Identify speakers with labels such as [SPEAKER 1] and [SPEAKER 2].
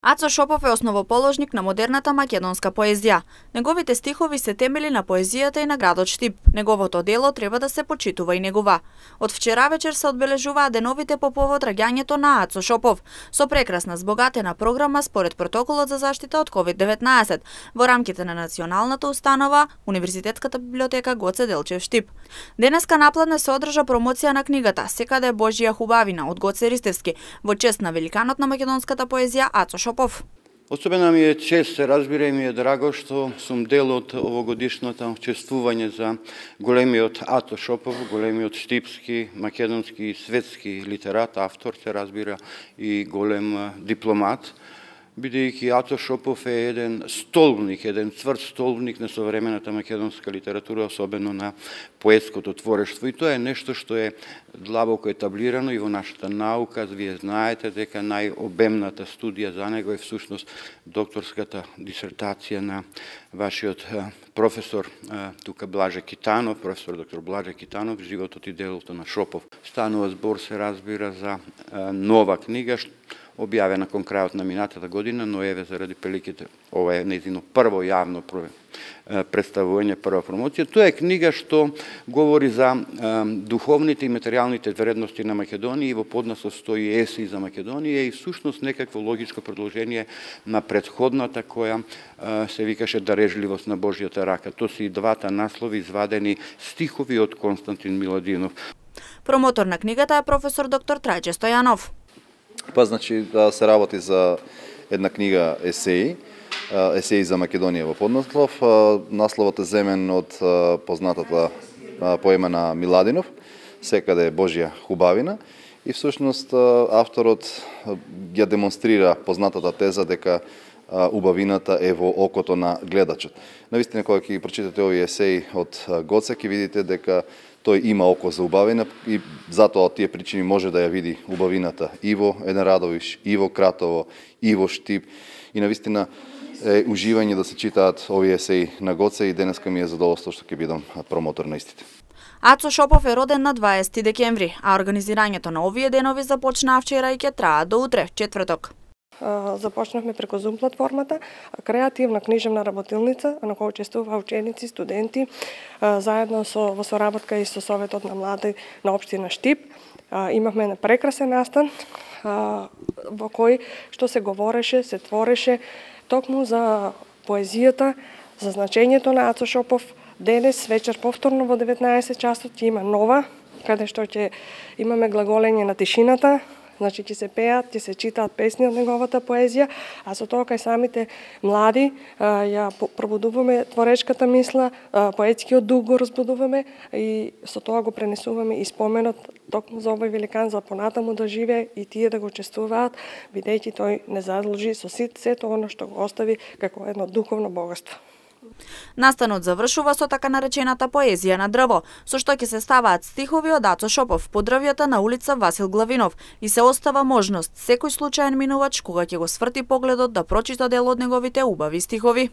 [SPEAKER 1] Ацо Шопов е основоположник на модерната македонска поезија. Неговите стихови се темели на поезијата и на градот Штип. Неговото дело треба да се почитува и негува. Од вчера вечер се одбележуваат деновите по повод раѓањето на Ацо Шопов, со прекрасна збогатена програма според протоколот за заштита од COVID-19 во рамките на националната установа Универзитетската библиотека Гоце Делчев Штип. Денеска напладне се одржа промоција на книгата Секаде Божја хубавина од Гоце Ристевски во чест на великанот на македонската поезија Ацо Шопов.
[SPEAKER 2] Особено ми е чест, се разбира, и ми е драго што сум дел од овогодишното чествување за големиот Ацо Шопов, големиот штипски, македонски и светски литерат, автор, се разбира, и голем дипломат, бидејќи Ацо Шопов е еден столбник, еден цврд столбник на современата македонска литература, особено на поетското творештво. И тоа е нешто што е длабоко етаблирано и во нашата наука. Вие знаете дека најобемната студија за него е всушност докторската дисертација на вашиот професор тука Блаже Китанов, професор доктор Блаже Китанов, животот и делото на Шопов. Станува збор, се разбира, за нова книга, објавена кон крајот на минатата година, но еве заради приликите, ова е нејзино прво јавно представување, прва промоција. Тоа е книга што говори за духовните и материјалните вредности на Македонија и во поднаслов стои еси за Македонија и всушност некакво логичко продолжение на претходната која се викаше Дарежливост на Божјата рака. Тоа се и двата наслови извадени стихови од Константин Миладинов.
[SPEAKER 1] Промотор на книгата е професор доктор Трајче Стојанов.
[SPEAKER 3] Значи, се работи за една книга есеи за Македонија во поднаслов. Насловот е земен од познатата поема на Миладинов, Секаде Божја хубавина. И всушност авторот ја демонстрира познатата теза дека убавината е во окото на гледачот. Навистина, кога ќе ги прочитате овие есеи од Гоце, ќе видите дека тој има око за убавина и затоа од тие причини може да ја види убавината и во Еден Радовиш, и во Кратово, и во Штип. И навистина е уживање да се читаат овие есеи на Гоце и денеска ми е задоволство што ќе бидам промотор на истите.
[SPEAKER 1] Ацо Шопов е роден на 20 декември, а организирањето на овие денови започнаа вчера и ќе трае до утре, четврток.
[SPEAKER 4] Започнавме преку Zoom платформата, креативна книжевна работилница на која учествуваа ученици, студенти, заедно во соработка и со Советот на млади на општина Штип. Имавме прекрасен настан во кој што се говореше, се твореше токму за поезијата, за значењето на Ацо Шопов. Денес вечер повторно во 19 часот ќе има нова, каде што ќе имаме глаголење на тишината. Значи, ќе се пеат, ќе се читаат песни од неговата поезија, а со тоа кај самите млади ја пробудуваме творечката мисла, поетскиот дух го разбудуваме и со тоа го пренесуваме и споменот токму за овој великан за понатаму да живее и тие да го чествуваат, бидејќи тој не задлужи со сето оно што го остави како едно духовно богатство.
[SPEAKER 1] Настанот завршува со така наречената поезија на дрво, со што ќе се ставаат стихови од Ацо Шопов по дрвјата на улица Васил Главинов и се остава можност секој случаен минувач кога ќе го сврти погледот да прочита дел од неговите убави стихови.